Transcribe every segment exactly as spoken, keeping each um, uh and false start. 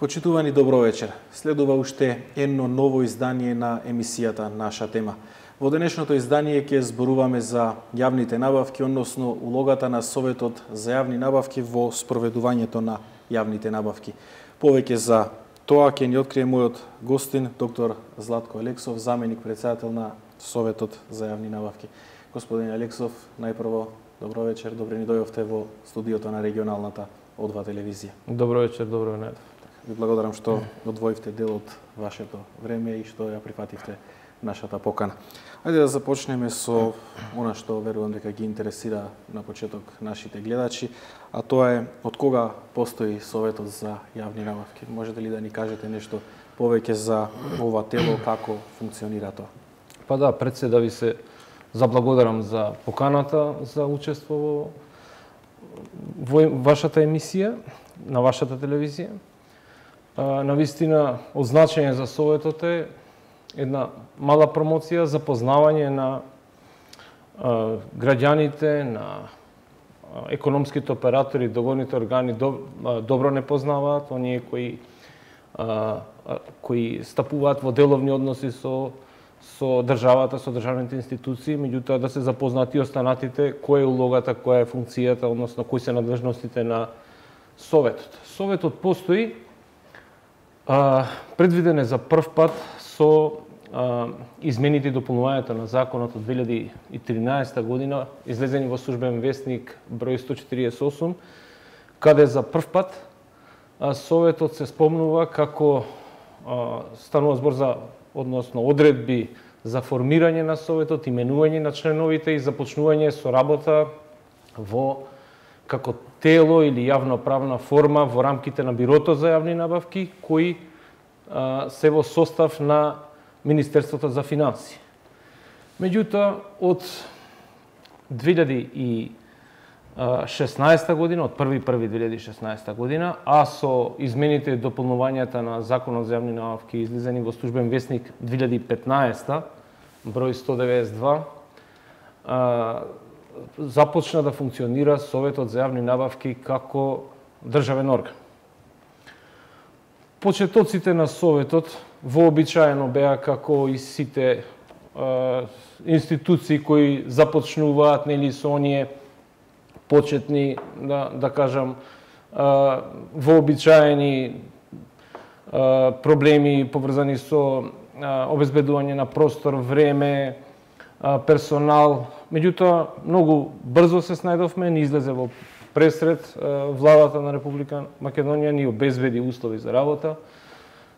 Почитувани, добро вечер. Следува уште едно ново издание на емисијата Наша тема. Во денешното издание ќе зборуваме за јавните набавки, односно улогата на Советот за јавни набавки во спроведувањето на јавните набавки. Повеќе за тоа ќе ни открие мојот гостин, доктор Златко Алексов, заменик председател на Советот за јавни набавки. Господин Алексов, најпрво добро вечер, добре ни дојдовте во студиото на регионалната О два телевизија. Добро вечер, добро најдов. Ви благодарам што одвоивте дел од вашето време и што ја прифативте нашата покана. Ајде да започнеме со она што верувам дека ги интересира на почеток нашите гледачи, а тоа е од кога постои Советот за јавни набавки. Можете ли да ни кажете нешто повеќе за ова тело, како функционира тоа? Па да, пред се да ви се заблагодарам за поканата за учество во вашата емисија, на вашата телевизија. Навистина, од значење за Советот е една мала промоција, запознавање на а, граѓаните, на а, економските оператори, договорните органи доб, а, добро не познаваат, оние кои а, а, кои стапуваат во деловни односи со со државата, со државните институции, меѓутоа да се запознати останатите која е улогата, која е функцијата, односно кои се надлежностите на Советот. Советот постои, а, предвиден е за прв пат со а, измените и дополнувањето на законот од две илјади и тринаесета година, излезени во Службен вестник број сто четириесет и осум, каде за прв пат а, Советот се спомнува како а, станува збор за односно одредби за формирање на Советот, именување на членовите и започнување со работа во како тело или јавноправна форма во рамките на Бирото за јавни набавки, кои а, се во состав на Министерството за финансии. Меѓутоа, од две илјади и шеснаесета година, од први први две илјади и шеснаесета година, а со измените и дополнувањата на Законот за јавни набавки излезени во Службен вестник две илјади и петнаесета, број сто деветдесет и два, а, започна да функционира Советот за јавни набавки како државен орган. Почетоците на Советот вообичаено беа како и сите а, институции кои започнуваат нели со оние почетни, да, да кажам, а, вообичаени а, проблеми поврзани со а, обезбедување на простор, време, а, персонал. Меѓутоа, многу брзо се снајдовме, ни излезе во пресред а, владата на Република Македонија, ни обезбеди услови за работа.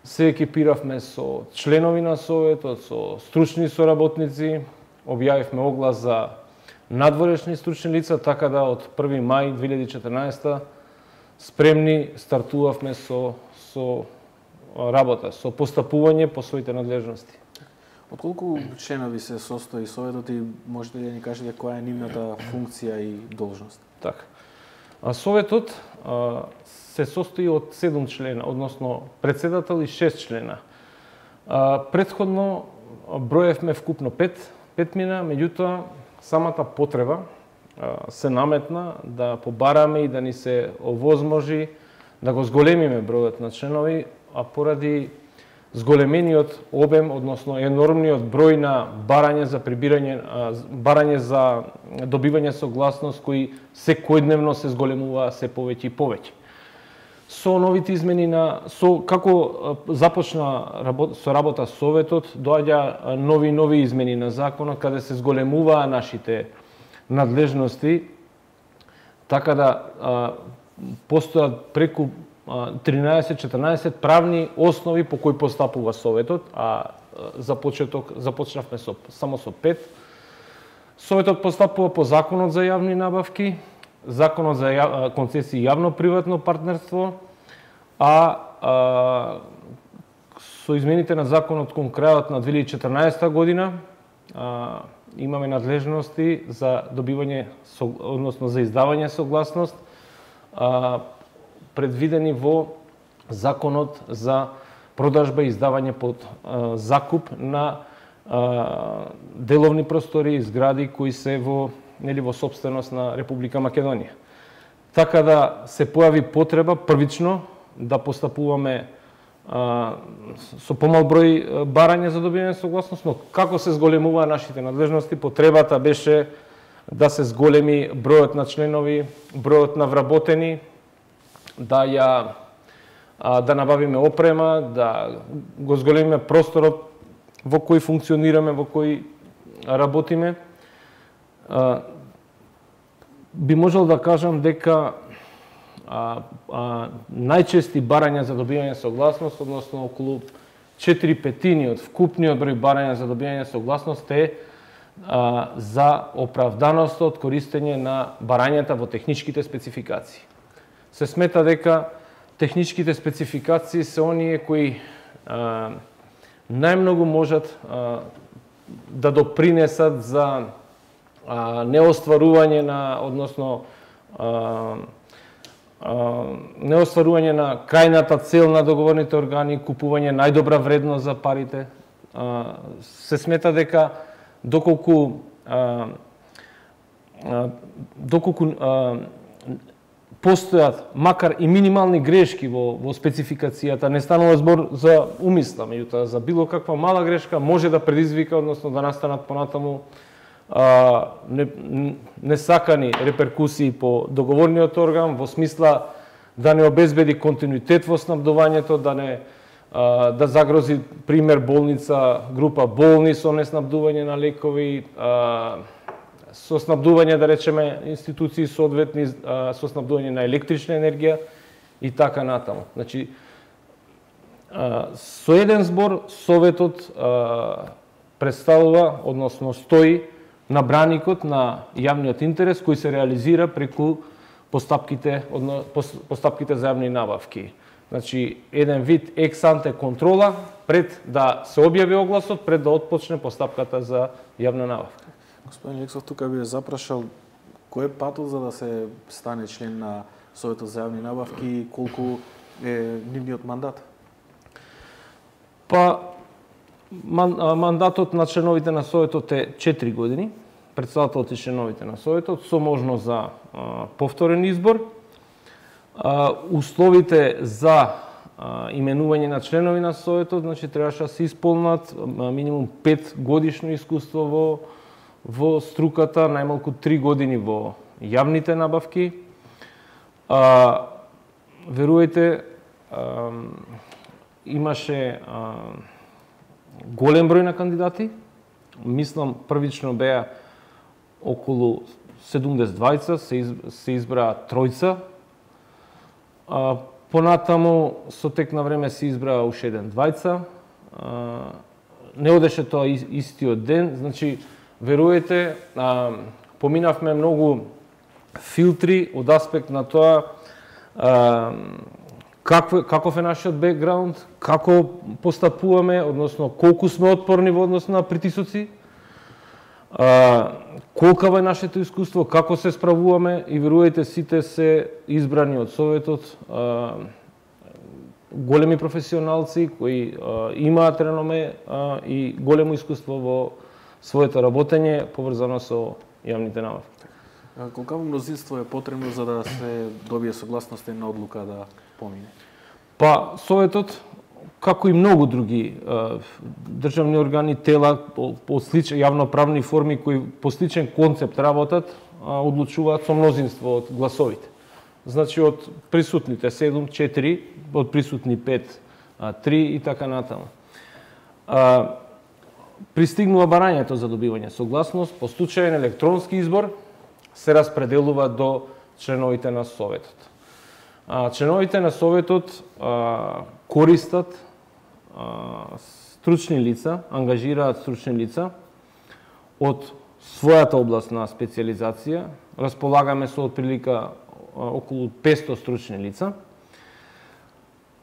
Се екипиравме со членови на Советот, со стручни соработници, објавивме оглас за надворешни стручни лица, така да од први мај две илјади и четрнаесета спремни стартувавме со, со работа, со постапување по своите надлежности. Од колку членови се состои Советот и можете да ни кажете која е нивната функција и должност? Така. А Советот а, се состои од седум члена, односно председател и шест члена. А, предходно броевме вкупно пет, пет мина, меѓутоа самата потреба а, се наметна да побараме и да ни се овозможи да го зголемиме бројот на членови, а поради зголемениот обем, односно енормниот број на барање за прибирање, а, барање за добивање согласност кои секојдневно се зголемува се повеќе и повеќе. Со новите измени на со како започна работа, со работа Советот, доаѓа нови нови измени на законот каде се зголемуваа нашите надлежности, така да а, постојат преку тринаесет-четрнаесет правни основи по кои постапува Советот, а за почеток започнавме со само со пет. Советот постапува по Законот за јавни набавки, Законот за ја, концесии и јавно-приватно партнерство, а, а со измените на законот кон крајот на две илјади и четрнаесета година а, имаме надлежности за добивање, односно за издавање согласност, а, предвидени во Законот за продажба и издавање под а, закуп на а, деловни простори и згради кои се во нели во собственост на Република Македонија. Така да се појави потреба првично да постапуваме а, со помал број барања за добивање согласност, но како се зголемува нашите надлежности, потребата беше да се зголеми бројот на членови, бројот на вработени, да ја а, да набавиме опрема, да го зголемиме просторот во кој функционираме, во кој работиме. А, би можел да кажам дека а, а, најчести барања за добивање согласност, односно околу четири петини од вкупниот број барања за добивање согласност е а, за оправданост од користење на барањата во техничките спецификации. Се смета дека техничките спецификации се оние кои а, најмногу можат а, да допринесат за а, неостварување на, односно а, а, неостварување на крајната цел на договорните органи, купување најдобра вредност за парите. А, се смета дека доколку а, а, доколку а, постојат макар и минимални грешки во, во спецификацијата, не станува збор за умисла, меѓутоа за било каква мала грешка може да предизвика, односно да настанат понатаму а, не, несакани реперкусии по договорниот орган, во смисла да не обезбеди континуитет во снабдувањето, да не а, да загрози пример болница, група болни со неснабдување на лекови, а, со снабдување, да речеме, институции соодветни, со снабдување на електрична енергија и така натаму. Значи, со еден збор, Советот представува, односно стои на браникот на јавниот интерес кој се реализира преку постапките, постапките за јавни набавки. Значи, еден вид екс-анте контрола пред да се објави огласот, пред да отпочне постапката за јавна набавка. Господин Лексов, тука би запрашал кој е патот за да се стане член на Советот за јавни набавки и колку е нивниот мандат? Па, мандатот на членовите на Советот е четири години, председателот и членовите на Советот, со можност за а, повторен избор. А, условите за а, именување на членови на Советот, значи требаше да се исполнат а, минимум пет годишно искуство во во струката, најмалку три години во јавните набавки. А, верувајте, а, имаше а, голем број на кандидати. Мислам, првично беа околу седумдесет двајца, се, из, се избраа тројца. А, понатаму, со тек на време се избраа уште еден двајца. А, не одеше тоа истиот ден, значи, верувајте, а, поминавме многу филтри од аспект на тоа а, каков, каков е нашиот бекграунд, како постапуваме, односно колку сме отпорни во однос на притисоци, а, колкаво е нашето искуство, како се справуваме и верувајте, сите се избрани од Советот, а, големи професионалци кои а, имаат реноме а, и големо искуство во своето работење поврзано со јавните набавки. Колкаво мнозинство е потребно за да се добие согласност на одлука да помине? Па, Советот, како и многу други е, државни органи, тела по, по слични јавноправни форми кои по сличен концепт работат, а, одлучуваат со мнозинство од гласовите. Значи од присутните седум, четири, од присутни пет, три и така натаму. А, Пристигнува барањето за добивање согласност, по случаен електронски избор се распределува до членовите на Советот. А, членовите на Советот а, користат а, стручни лица, ангажираат стручни лица од својата област на специализација. Располагаме со отприлика а, околу петсто стручни лица.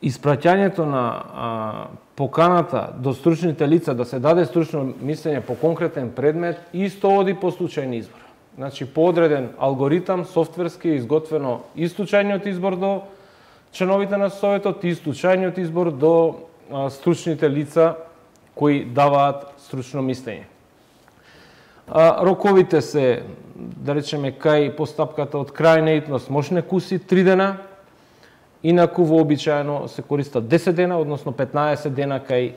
Испраќањето на а, поканата до стручните лица да се даде стручно мислење по конкретен предмет исто оди по случајен избор. Значи, по одреден алгоритам, софтверски е изготвено и случајниот избор до членовите на Советот и случајниот избор до а, стручните лица кои даваат стручно мислење. А, роковите се, да речеме, кај постапката од крај неитност можне куси три дена, Инаку вообичаено се користат десет дена, односно петнаесет дена кај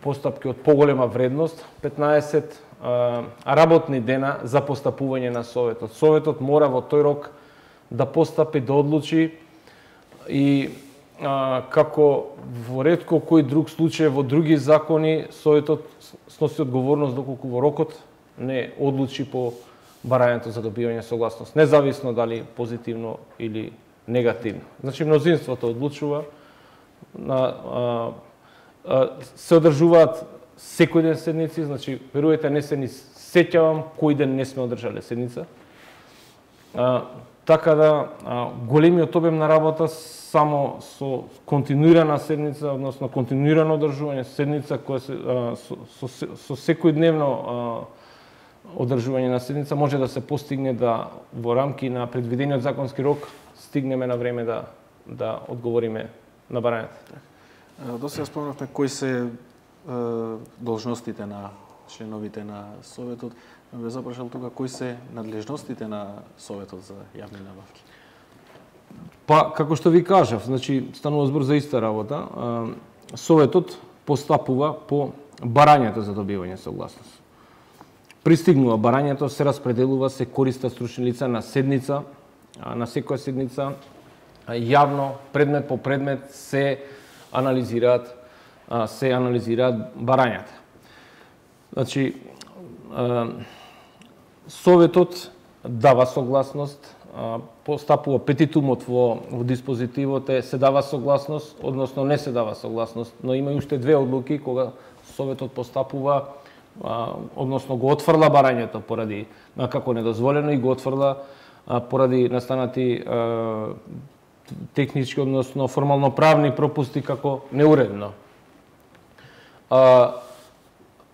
постапки од поголема вредност, петнаесет а, работни дена за постапување на Советот. Советот мора во тој рок да постапи, да одлучи и а, како во ретко кој друг случај во други закони, Советот сноси одговорност доколку во рокот не одлучи по барањето за добивање согласност, независно дали позитивно или негативно. Значи, мнозинството одлучува, на, а, а, се одржуваат секој ден седници, значи, верувајте, не се ни сеќавам кој ден не сме одржале седница. А, така да, а, големиот обем на работа само со континуирана седница, односно континуирано одржување седница која се, а, со, со, со секојдневно а, одржување на седница може да се постигне да во рамки на предвидениот законски рок стигнеме на време да да одговориме на барањето. До сега спомнавме кои се е, должностите на членовите на Советот. Ве запрашал тука кои се надлежностите на Советот за јавни набавки. Па, како што ви кажав, значи станува збор за иста работа. Советот постапува по барањето за добивање согласност. Пристигнува барањето, се распределува, се користат стручни лица на седница, на секоја седница, јавно, предмет по предмет се анализираат, се анализираат барањата. Значи, Советот дава согласност, постапува петитумот во, во диспозитивот е се дава согласност, односно не се дава согласност, но има уште две одлуки кога Советот постапува, односно го отфрла барањето поради како недозволено и го отфрла поради настанати технички, односно формално правни пропусти како неуредно.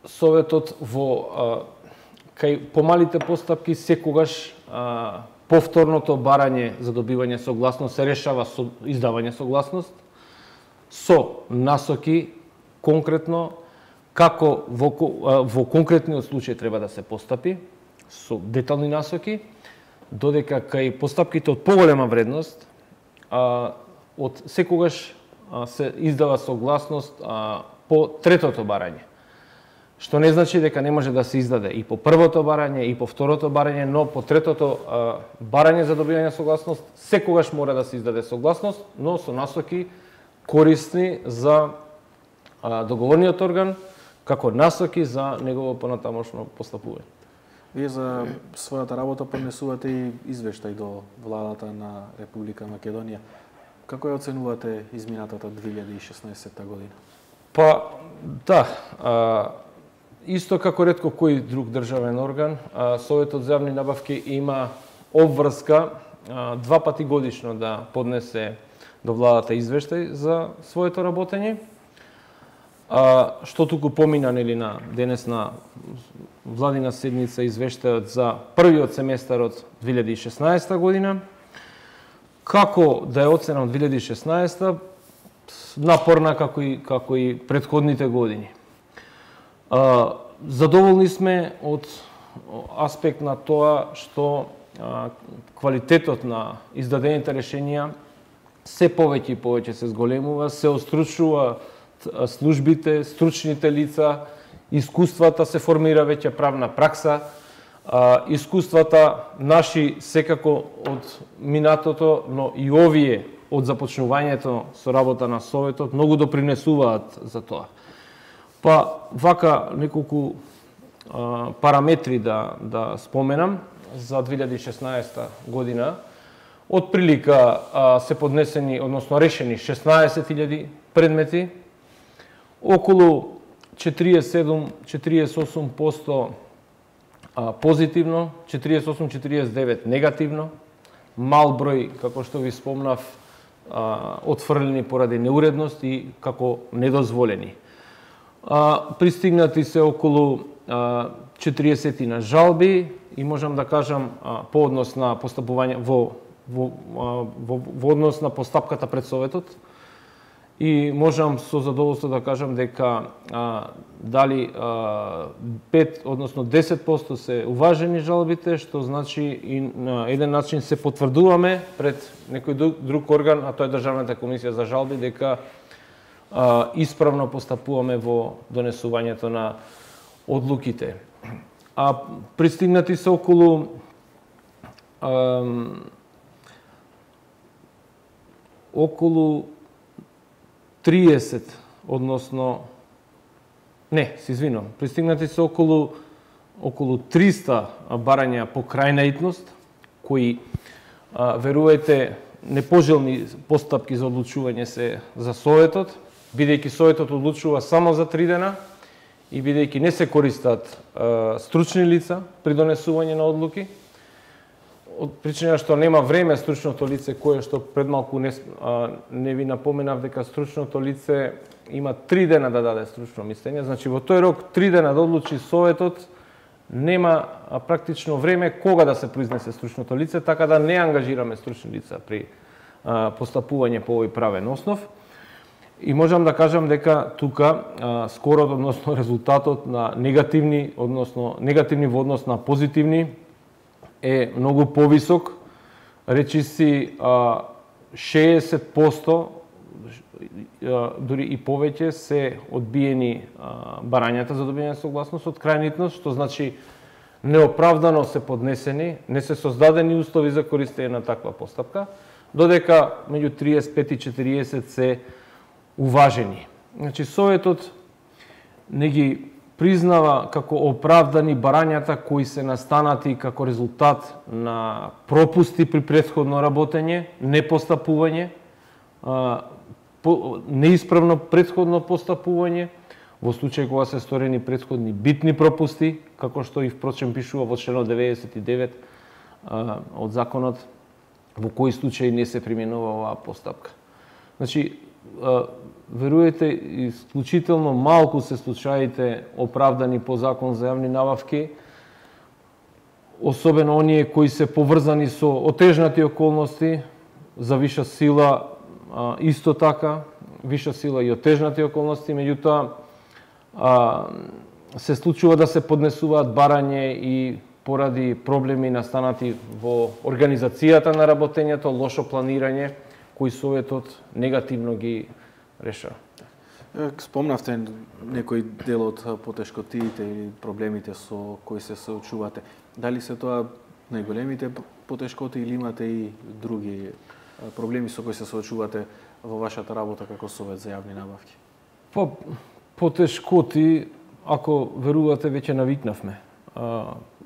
Советот во кај помалите постапки секогаш повторното барање за добивање согласност се решава со издавање согласност со насоки конкретно како во, во конкретниот случај треба да се постапи, со детални насоки, додека кај постапките од поголема вредност, а, од секогаш а, се издава согласност а, по третото барање. Што не значи дека не може да се издаде и по првото барање, и по второто барање, но по третото а, барање за добивање согласност, секогаш мора да се издаде согласност, но со насоки корисни за а, договорниот орган, како насоки за негово понатамошно постапување. Вие за својата работа поднесувате и извештај до владата на Република Македонија. Како ја оценувате изминатата две илјади и шеснаесетта година? Па, да, а, исто како ретко кој друг државен орган, а, Советот за јавни набавки има обврска а, два пати годишно да поднесе до владата извештај за своето работење. А, што туку помина нели на денес на владина седница извештајот за првиот семестар од две илјади и шеснаесетта година. Како да е оцена од две илјади и шеснаесетта? Напорна како и како и претходните години. А, задоволни сме од аспект на тоа што а, квалитетот на издадените решенија се повеќе и повеќе се зголемува, се остручува службите, стручните лица, искуствата, се формира веќе правна пракса, а, искуствата наши секако од минатото, но и овие од започнувањето со работа на Советот многу допринесуваат за тоа. Па вака неколку а, параметри да да споменам за две илјади и шеснаесетта година. Од прилика а, се поднесени, односно решени шеснаесет илјади предмети, околу четириесет и седум до четириесет и осум проценти позитивно, четириесет и осум до четириесет и девет негативно, мал број, како што ви спомнав, отфрлени поради неуредност и како недозволени. Пристигнати се околу четириесет на жалби и можам да кажам по однос на постапување во во, во, во однос на постапката пред Советот и можам со задоволство да кажам дека а, дали а, пет, односно десет проценти се уважени жалбите, што значи и на еден начин се потврдуваме пред некој друг орган, а тоа е Државната комисија за жалби, дека а, исправно постапуваме во донесувањето на одлуките. А пристигнати се околу а, околу триесет, односно не, се извинувам, пристигнати се околу околу триста барања по крајнаитност, кои а, верувајте непожелни постапки за одлучување се за Советот, бидејќи Советот одлучува само за три дена и бидејќи не се користат а, стручни лица при донесување на одлуки, од причина што нема време стручното лице, кое што пред малку не, а, не ви напоменав дека стручното лице има три дена да даде стручно мислење, значи во тој рок три дена да одлучи Советот, нема а, практично време кога да се произнесе стручното лице, така да не ангажираме стручни лица при а, постапување по овој правен основ. И можам да кажам дека тука а, скорот, односно резултатот на негативни, односно негативни во однос на позитивни, е многу повисок, речиси шеесет проценти, дури и повеќе се одбиени барањата за добијање согласност од крајнитност, што значи неоправдано се поднесени, не се создадени услови за користење на таква постапка, додека меѓу триесет и пет и четириесет се уважени. Значи Советот не ги признава како оправдани барањата кои се настанати како резултат на пропусти при претходно работење, непостапување, неисправно претходно постапување, во случај кога се сторени претходни битни пропусти, како што и впрочем пишува во членот деветдесет и девет од законот, во кои случаи не се применува оваа постапка. Значи, веруете, исклучително малку се случаите оправдани по закон за јавни набавки, особено оние кои се поврзани со отежнати околности, за виша сила исто така, виша сила и отежнати околности, меѓутоа се случува да се поднесуваат барање и поради проблеми настанати во организацијата на работењето, лошо планирање, кои Советот негативно ги реша. Спомнавте некој дел од потешкотиите или проблемите со кои се соочувате. Дали се тоа најголемите потешкоти или имате и други проблеми со кои се соочувате во вашата работа како Совет за јавни набавки? Па, потешкоти, ако верувате, веќе навикнавме.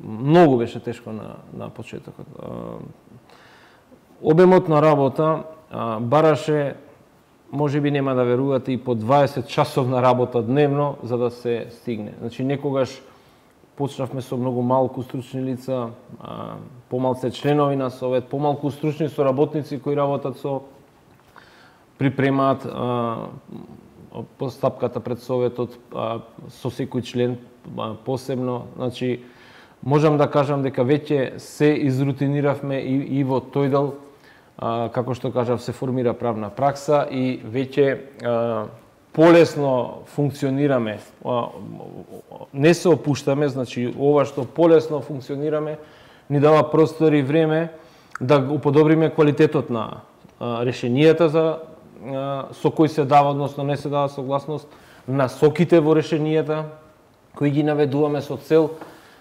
Многу беше тешко на, на почетокот. Обемот на работа бараше, може би нема да верувате, и по дваесет часовна работа дневно за да се стигне. Значи некогаш почнавме со многу малку стручни лица, помалце членови на Совет, помалку стручни соработници кои работат со припремаат постапката пред Советот со секој член посебно. Значи можам да кажам дека веќе се изрутиниравме и, и во тој дел, како што кажав, се формира правна пракса и веќе полесно функционираме, не се опуштаме, значи ова што полесно функционираме ни дава простор и време да уподобриме квалитетот на решенијата за со кои се дава, односно не се дава согласност, насоките во решенијата кои ги наведуваме со цел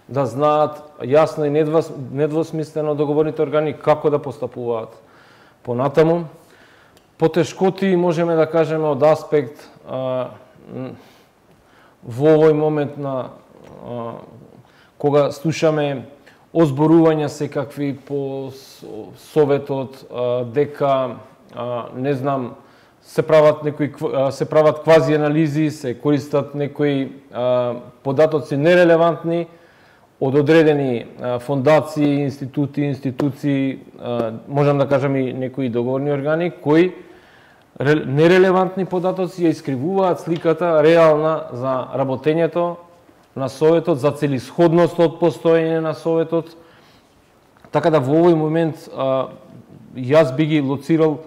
да знаат јасно и недвосмислено договорните органи како да постапуваат понатаму. Потешкоти можеме да кажеме од аспект а, во овој момент на а, кога слушаме озборувања секакви по Советот а, дека а, не знам се прават некои се прават квази анализи, се користат некои а, податоци нерелевантни од одредени а, фондации, институти, институции, а, можам да кажам и некои договорни органи кои нерелевантни податоци ја искривуваат сликата реална за работењето на Советот, за целисходност од постоење на Советот. Така да во овој момент а, јас би ги лоцирал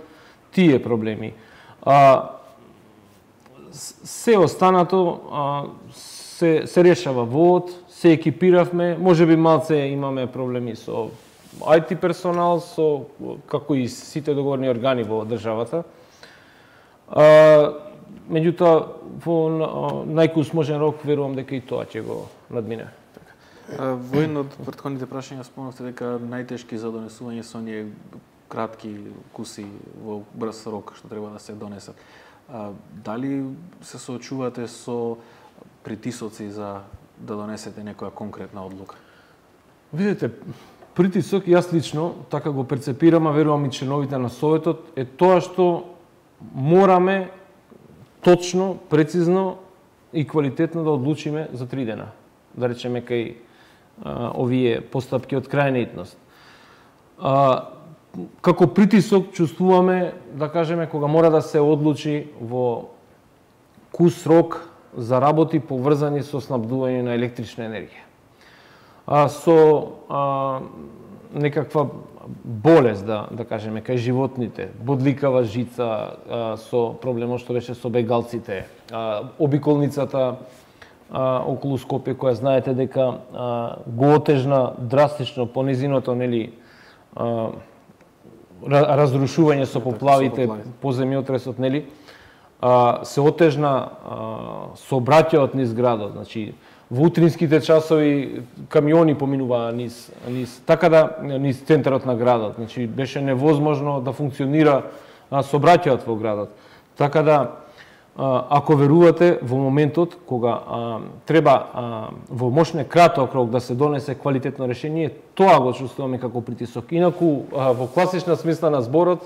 тие проблеми. А, се останато а, се, се решава во од, се екипиравме, може би малце имаме проблеми со ај ти персонал, со како и сите договорни органи во државата. А, меѓутоа, во најкус можен рок, верувам дека и тоа ќе го надмине. Во едно од претходните прашања спомнавте дека најтешки за донесување се оние кратки куси во брз рок што треба да се донесат. А, дали се соочувате со притисоци за да донесете некоја конкретна одлука? Видете, притисок, јас лично така го перцепирам, а верувам и членовите на Советот, е тоа што мораме точно, прецизно и квалитетно да одлучиме за три дена. Да речеме кај а, овие постапки од крајна А, како притисок чувствуваме, да кажеме, кога мора да се одлучи во кус рок за работи поврзани со снабдување на електрична енергија. А, со а, некаква болест, да, да кажеме, кај животните, бодликава жица, а, со проблемот што беше со бегалците, а, обиколницата а, околу Скопје, која знаете дека а, го отежна драстично по низиното, нели, а, разрушување со поплавите, по земјотресот, нели, а, се отежна а, сообраќајот низ градот, значи во утринските часови камиони поминуваа низ, низ така да низ центарот на градот, значи беше невозможно да функционира сообраќајот во градот. Така да а, ако верувате во моментот кога а, треба а, во мошне краток рок да се донесе квалитетно решение, тоа го чувствуваме како притисок. Инаку а, во класична смисла на зборот,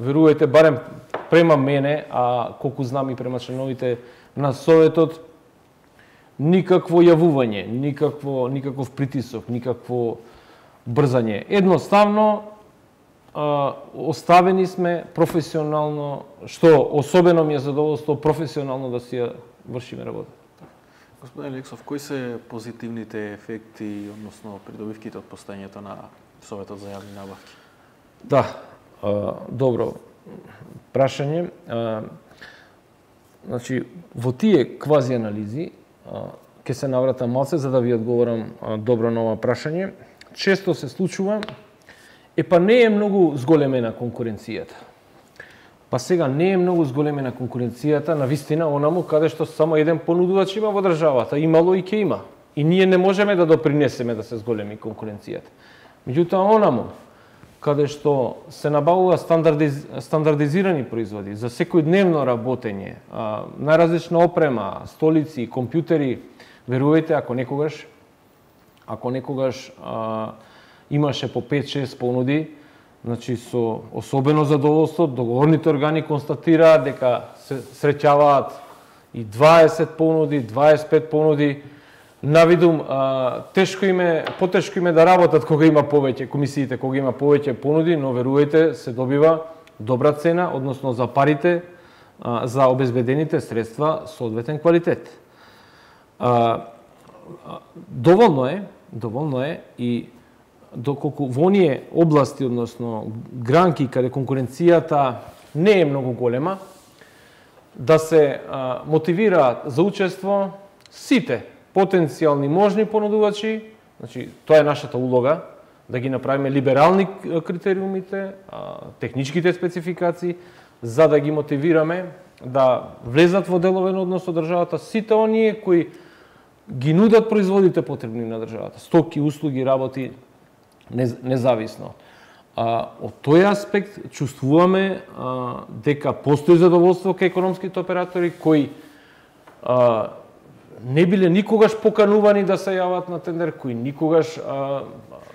верувајте, барем према мене, а колку знам и према членовите на Советот, никакво јавување, никакво, никаков притисок, никакво брзање. Едноставно, а, оставени сме професионално, што особено ми е задоволство, професионално да си ја вршиме работа. Господин Алексов, кои се позитивните ефекти, односно придобивките од постојањето на Советот за јавни набавки? Да, а, добро прашање. А, значи, во тие квази анализи, ќе се навратам малце за да ви одговорам добро на ова прашање. Често се случува, е па не е многу зголемена конкуренцијата. Па сега не е многу зголемена конкуренцијата на вистина онаму каде што само еден понудувач има во државата, имало и ќе има. И ние не можеме да допринесеме да се зголеми конкуренцијата. Меѓутоа онаму каде што се набавува стандардиз... стандардизирани производи за секојдневно работење, а, најразлична опрема, столици, компјутери, верувајте, ако некогаш, ако некогаш а, имаше по пет-шест понуди, значи со особено задоволство, договорните органи констатираат дека се среќаваат и дваесет понуди, дваесет и пет понуди. Навидум, а, тешко име, потешко име да работат кога има повеќе, комисиите кога има повеќе понуди, но верувајте, се добива добра цена, односно за парите, а, за обезбедените средства, соодветен квалитет. А, доволно е, доволно е и доколку во оние области, односно гранки каде конкуренцијата не е многу голема, да се а, мотивираат за учество сите потенцијални можни понудувачи, значи тоа е нашата улога, да ги направиме либерални критериумите, техничките спецификации, за да ги мотивираме да влезат во деловен однос со државата сите оние кои ги нудат производите потребни на државата, стоки, услуги, работи, независно. А, од тој аспект чувствуваме а, дека постои задоволство кај економските оператори кои а, не биле никогаш поканувани да се јават на тендер, кои никогаш, а,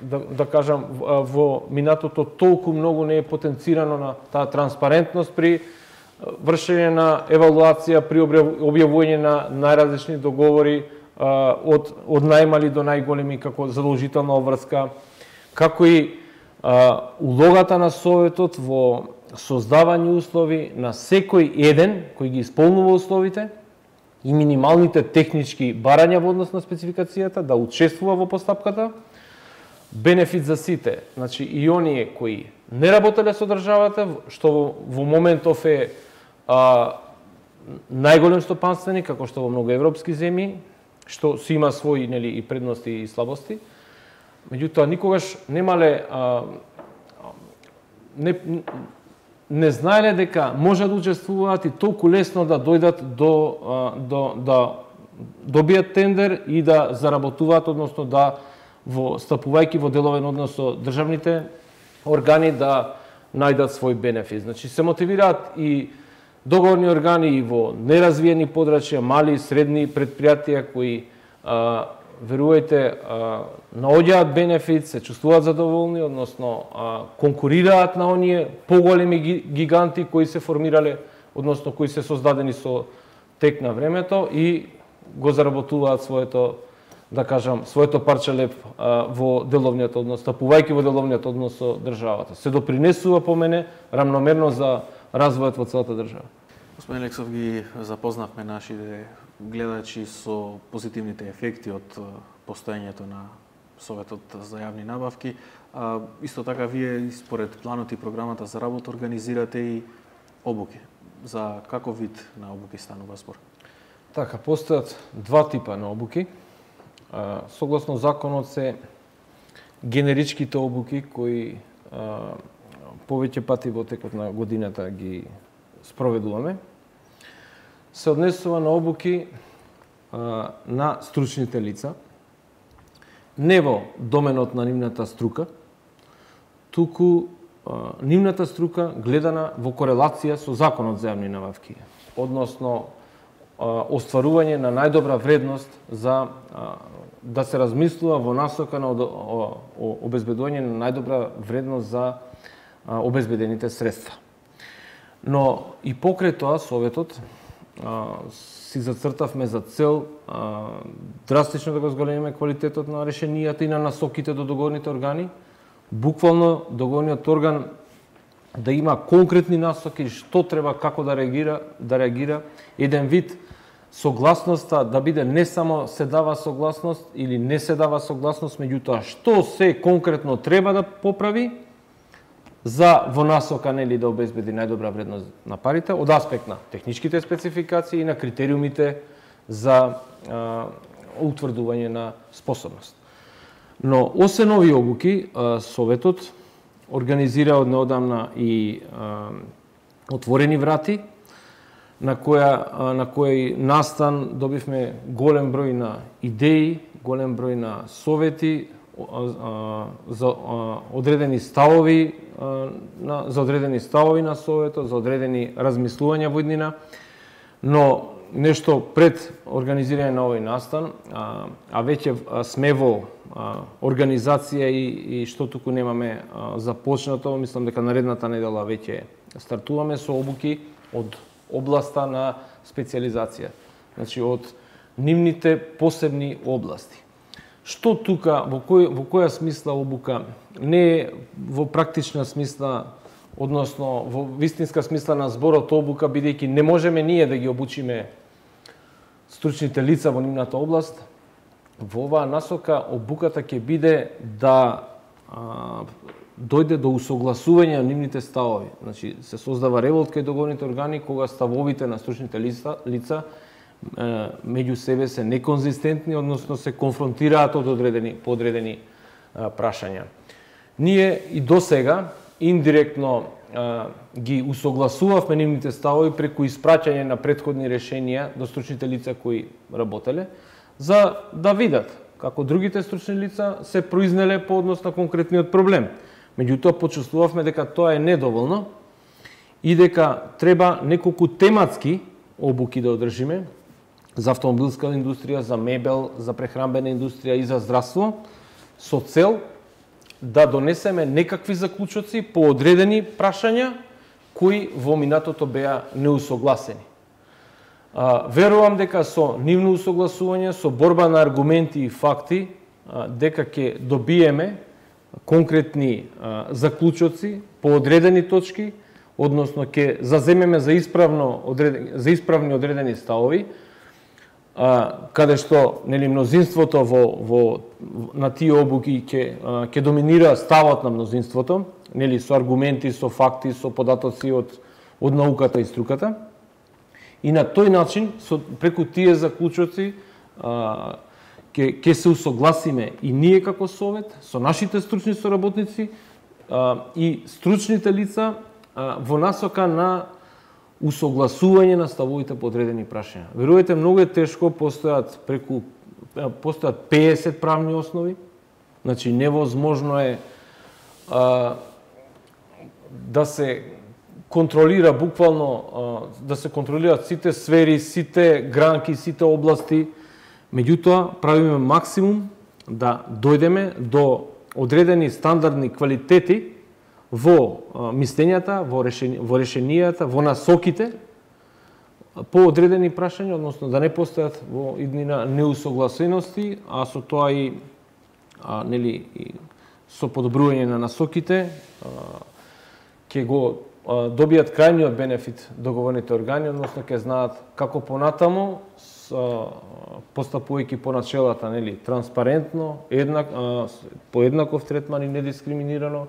да, да кажам, во минатото толку многу не е потенцирано на таа транспарентност при вршење на евалуација, при објавување на најразлични договори, а, од, од најмали до најголеми како задолжителна обврска, како и а, улогата на Советот во создавање услови на секој еден кој ги исполнува условите и минималните технички барања во однос на спецификацијата, да учествува во постапката. Бенефит за сите, значи и оние кои не работеле со државата, што во моментов е а, најголем стопанственик, како што во многу европски земји, што си има своји, нели, и предности и слабости. Меѓутоа никогаш немале а, не не знаеле дека може да учествуваат и толку лесно да дојдат до а, до да добијат тендер и да заработуваат, односно да во стапувајќи во деловен однос со државните органи да најдат свој бенефит. Значи се мотивираат и договорни органи и во неразвиени подрачја, мали и средни предпријатија кои а, верувајте а, наоѓаат бенефит, се чувствуваат задоволни, односно а, конкурираат на оние поголеми гиганти кои се формирале, односно кои се создадени со тек на времето и го заработуваат своето, да кажам, своето парче леп а, во деловниот однос, стапувајќи во деловниот однос со државата. Се допринесува по мене рамномерно за развојот во целата држава. Господин Лексов, ги запознавме нашите гледачи со позитивните ефекти од постоењето на Советот за јавни набавки. А, исто така, вие според планот и програмата за работа организирате и обуки. За каков вид на обуки станува збор? Така, постојат два типа на обуки. А, согласно законот се генеричките обуки кои а, повеќе пати во текот на годината ги спроведуваме. Се однесува на обуки а, на стручните лица, не во доменот на нивната струка, туку а, нивната струка гледана во корелација со законот за јавни набавки, односно а, остварување на најдобра вредност за а, да се размислува во насока на обезбедување на најдобра вредност за а, обезбедените средства. Но и покрај тоа Советот а, си зацртавме за цел а, драстично да го зголемиме квалитетот на решенијата и на насоките до договорните органи. Буквално договорниот орган да има конкретни насоки што треба, како да реагира, да реагира. Еден вид согласноста да биде не само се дава согласност или не се дава согласност, меѓутоа што се конкретно треба да поправи за во насока, нели, да обезбеди најдобра вредност на парите од аспект на техничките спецификации и на критериумите за а, утврдување на способност. Но освен овие обуки, а, Советот организира од неодамна и а, отворени врати, на која а, на кој настан добивме голем број на идеи, голем број на совети за одредени ставови на за одредени ставови на Советот, за одредени размислувања во иднина, но нешто пред организирање на овој настан, а, а веќе сме во а, организација и, и што туку немаме а, започнато, мислам дека наредната недела веќе стартуваме со обуки од областа на специализација, значи од нивните посебни области. Што тука, во, кој, во која смисла обука, не е во практична смисла, односно во вистинска смисла на зборот обука, бидејќи не можеме ние да ги обучиме стручните лица во нивната област, во оваа насока обуката ќе биде да а, дојде до усогласување на нивните ставови. Значи, се создава револт кај договорните органи кога ставовите на стручните лица, лица меѓу себе се неконзистентни, односно се конфронтираат од одредени подредени а, прашања. Ние и досега индиректно а, ги усогласувавме нивните ставови преку испраќање на претходни решенија до стручните лица кои работеле, за да видат како другите стручни лица се произнеле по однос на конкретниот проблем. Меѓутоа почувствувавме дека тоа е недоволно и дека треба неколку тематски обуки да одржиме за автомобилска индустрија, за мебел, за прехранбена индустрија и за здравство, со цел да донесеме некакви заклучоци по одредени прашања кои во минатото беа неусогласени. А, верувам дека со нивно усогласување, со борба на аргументи и факти, а, дека ќе добиеме конкретни а, заклучоци по одредени точки, односно ќе заземеме за исправно одредени, за исправни одредени ставови, а, каде што, нели, мнозинството во, во на тие обуки ќе ќе доминира ставот на мнозинството, нели, со аргументи, со факти, со податоци од од науката и струката. И на тој начин, со, преку тие заклучоци, ќе ќе се усогласиме и ние како совет со нашите стручни соработници а, и стручните лица а, во насока на усогласување на ставовите по одредени прашања. Верувате, многу е тешко, постојат преку постојат пеесет правни основи. Значи невозможно е а, да се контролира буквално а, да се контролираат сите сфери, сите гранки, сите области. Меѓутоа, правиме максимум да дојдеме до одредени стандардни квалитети во а, мислењата, во, решени, во решенијата, во насоките по одредени прашања, односно да не постојат во иднина неусогласености, а со тоа и а, нели и со подобрување на насоките ќе го а, добијат крајниот бенефит договорните органи, односно ќе знаат како понатаму постапувајќи по начелата, нели, транспарентно, еднак, а, по еднаков третман и недискриминирано,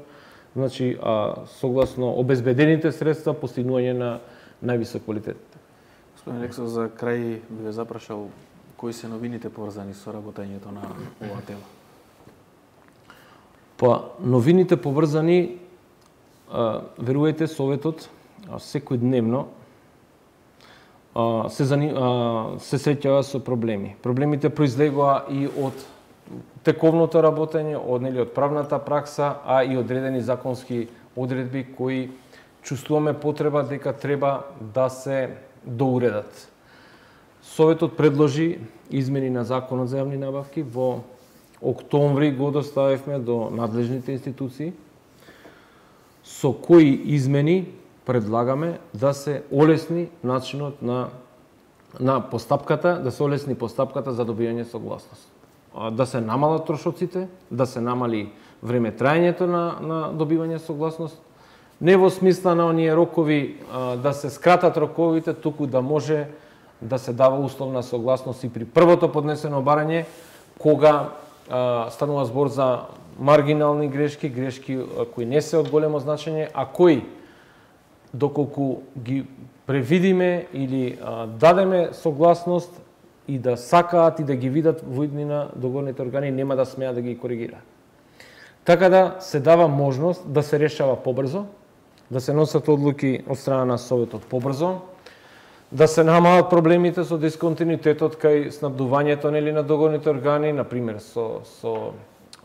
значи а, согласно обезбедените средства постигнување на највисок квалитет. Господин Рексов, за крај би ве запрашал кои се новините поврзани со работењето на оваа тема? Па, новините поврзани, а, верувајте, Советот секојдневно се, зани... се среќава со проблеми. Проблемите произлегува и од тековното работење, од, нели, од правната пракса, а и одредени законски одредби кои чувствуваме потреба дека треба да се доуредат. Советот предложи измени на Законот за јавни набавки. Во октомври го доставивме до надлежните институции, со кои измени предлагаме да се олесни начинот на на постапката, да се олесни постапката за добијање согласност. Да се намалат трошоците, да се намали време траењето на на добивање согласност, не во смисла на оние рокови а, да се скратат роковите, туку да може да се дава условна согласност и при првото поднесено барање, кога а, станува збор за маргинални грешки, грешки а, кои не се од големо значење, а кои доколку ги превидиме или а, дадеме согласност и да сакаат и да ги видат во иднина договорните органи, нема да смеат да ги коригираат. Така да се дава можност да се решава побрзо, да се носат одлуки од страна на Советот побрзо, да се намалат проблемите со дисконтинуитетот кај снабдувањето, нели, на договорните органи, на пример со со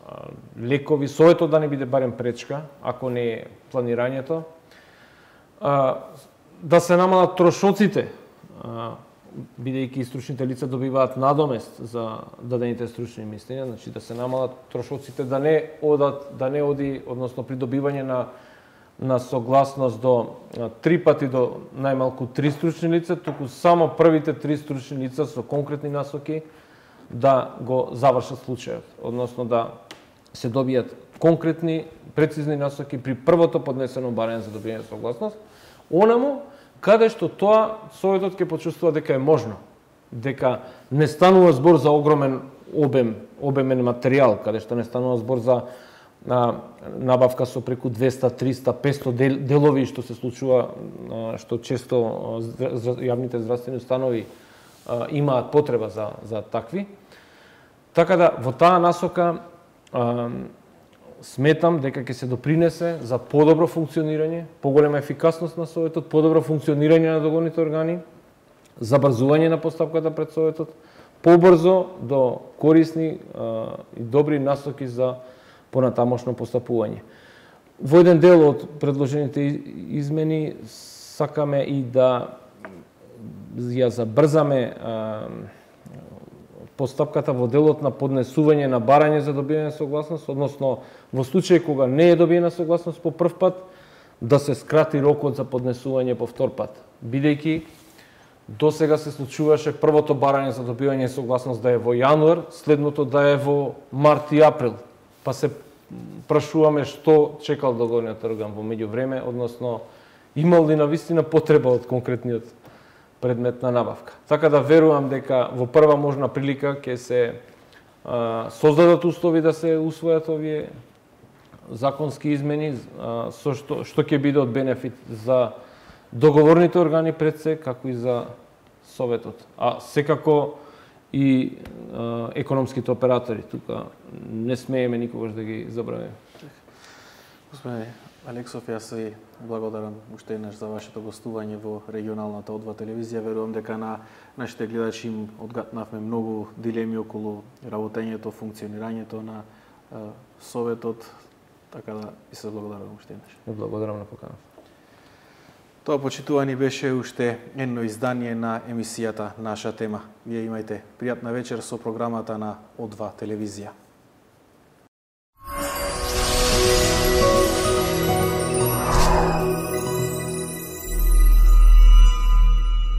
а, лекови, Советот да не биде барем пречка, ако не е планирањето. А, да се намалат трошоците, а, бидејќи стручните лица добиваат надомест за дадените стручни мислења, значи да се намалат трошоците, да не одат, да не оди, односно при добивање на на согласност до а, три пати до најмалку три стручни лица, туку само првите три стручни лица со конкретни насоки да го завршат случајот, односно да се добијат конкретни, прецизни насоки при првото поднесено барање за добијање согласност, онаму каде што тоа Советот ќе почувствува дека е можно, дека не станува збор за огромен обем, обемен материјал, каде што не станува збор за а, набавка со преку двеста, триста, петсто дел, делови, што се случува, а, што често а, јавните здравствени установи а, имаат потреба за, за такви. Така да, во таа насока а, сметам дека ќе се допринесе за подобро функционирање, поголема ефикасност на Советот, подобро функционирање на договорните органи, забрзување на постапката пред Советот, побрзо до корисни а, и добри насоки за понатамошно постапување. Во еден дел од предложените измени сакаме и да ја забрзаме а, постапката во делот на поднесување на барање за добијање согласност, односно во случај кога не е добиена согласност по прв пат, да се скрати рокот за поднесување по втор пат, бидејќи досега се случуваше првото барање за добивање согласност да е во јануар, следното да е во март и април, па се прашуваме што чекал договорниот орган во меѓувреме, односно имал ли навистина потреба од конкретниот предмет на набавка. Така да верувам дека во прва можна прилика ќе се а, создадат услови да се усвојат овие законски измени, а, со што што ќе биде од бенефит за договорните органи пред се, како и за Советот. А секако и а, економските оператори, тука не смееме никогаш да ги забравиме. Господине Алексов, јас ви благодарам уште еднаш за вашето гостување во регионалната О два телевизија. Верувам дека на нашите гледачи им одгатнавме многу дилеми околу работењето, функционирањето на а, Советот, така да ви се благодарам уште еднаш. Благодарам на покана. Тоа, почитувани, беше уште едно издание на емисијата Наша тема. Вие имајте пријатна вечер со програмата на О два телевизија.